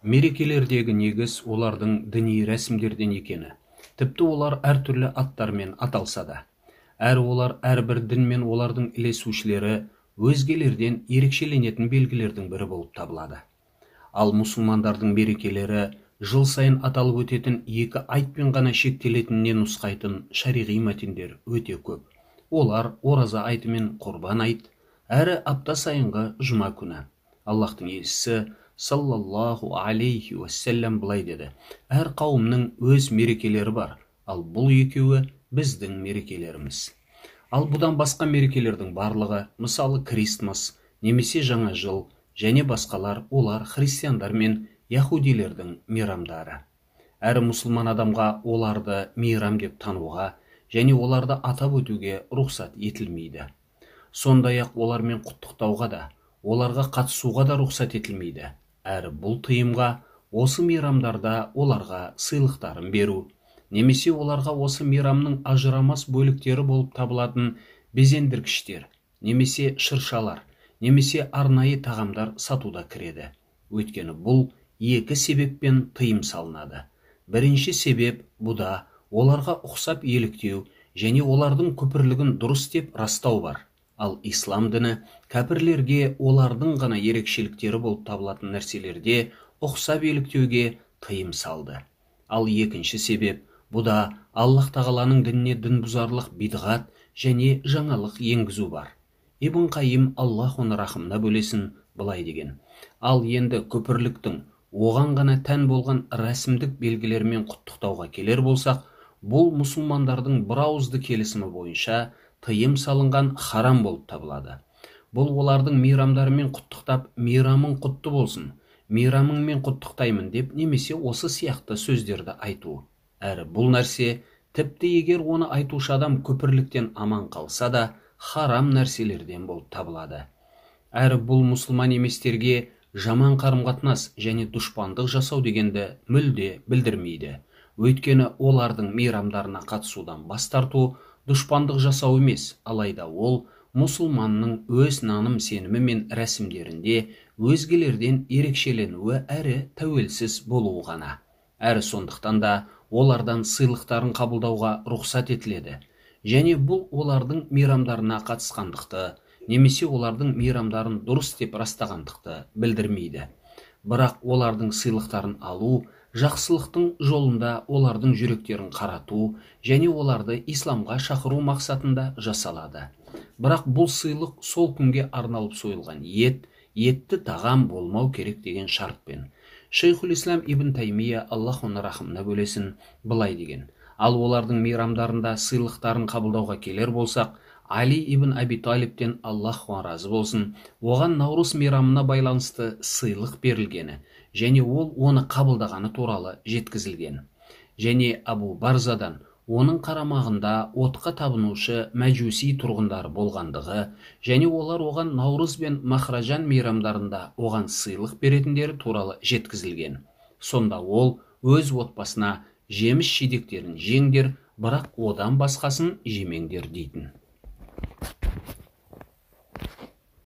Мерекелердегі негіз олардың діни рәсімдерден екені. Тіпті олар әртүрлі аттармен аталса да. Әрі олар әрбір дін мен олардың ілесушілері өзгелерден ерекшеленетін белгілердің бірі болып табылады. Ал мұсылмандардың мерекелері жыл сайын аталып өтетін екі айтпен ғана шектелетініне нұсқайтын шариғи мәтіндер өте көп. Олар ораза айты мен құрбан айт, әрі апта сайынғы жұма күні. Аллахтың елшісі саллаллаху алейхи уассалям былай деді: әр қауымның өз мерекелері бар, ал бұл екеуі біздің мерекелеріміз. Ал бұдан басқа мерекелердің барлығы, мысалы Крисмас немесе жаңа жыл және басқалар, олар христиандар мен яхудилердің мейрамдары. Әрі мұсылман адамға оларды мейрам деп тануға және оларды атап өтуге рұқсат етілмейді. Сондай-ақ олармен құттықтауға да, оларға қатысуға да рұқсат етілмейді. Әрі бұл тыйымға осы мейрамдарда оларға сыйлықтарын беру, немесе оларға осы мейрамның ажырамас бөліктері болып табылатын безендіргіштер, немесе шыршалар, немесе арнайы тағамдар сатуда кіреді. Өйткені бұл екі себеппен тыйым салынады. Бірінші себеп бұда оларға ұқсап еліктеу және олардың күпірлігін дұрыс деп растау бар. Ал ислам діні кәпірлерге олардың ғана ерекшеліктері болып табылатын нәрселерде ұқсап еліктеуге тыйым салды. Ал екінші себеп бұда Аллах тағаланың дініне дінбұзарлық бидғат және жаңалық енгізу бар. Ибн Қайым, Аллах оны рахымына бөлесін, былай деген: ал енді күпірліктің оған ғана тән болған рәсімдік белгілерімен құттықтауға келер болсақ, бұл мұсылмандардың бірауызды келісімі бойынша тыйым салынған харам болып табылады. Бұл олардың мейрамдарымен құттықтап, мейрамың құтты болсын, мейрамыңмен құттықтаймын деп немесе осы сияқты сөздерді айту. Әрі бұл нәрсе, тіпті егер оны айтушы адам күпірліктен аман қалса да, харам нәрселерден болып табылады. Әрі бұл мұсылман еместерге жаман қарым-қатынас және дұшпандық жасау дегенді мүлде білдірмейді. Өйткені олардың мейрамдарына қатысудан бас тарту дұшпандық жасау емес, алайда ол мұсылманның өз наным сенімі мен рәсімдерінде өзгелерден ерекшеленуі әрі тәуелсіз болуы ғана. Әрі сондықтан да олардан сыйлықтарын қабылдауға рұқсат етіледі. Және бұл олардың мейрамдарына қатысқандықты, немесе олардың мейрамдарын дұрыс деп растағандықты білдірмейді. Бірақ олардың сыйлықтарын алу жақсылықтың жолында олардың жүректерін қарату және оларды исламға шақыру мақсатында жасалады. Бірақ бұл сыйлық сол күнге арналып сойылған етті тағам болмау керек деген шартпен. Шейхул Ислам ибн Таймия, Аллах оны рахымына бөлесін, былай деген: ал олардың мейрамдарында сыйлықтарын қабылдауға келер болсақ, Али ибн Аби Талибтен, Аллах разы болсын, оған Наурыз мейрамына байланысты сыйлық берілгені және ол оны қабылдағаны туралы жеткізілген. Және Абу Барзадан оның қарамағында отқа табынушы мәжуси тұрғындары болғандығы және олар оған Наурыз бен Махражан мейрамдарында оған сыйлық беретіндері туралы жеткізілген. Сонда ол өз отбасына жеміс жидектерін жеңдер, бірақ одан басқасын жемеңдер дейтін.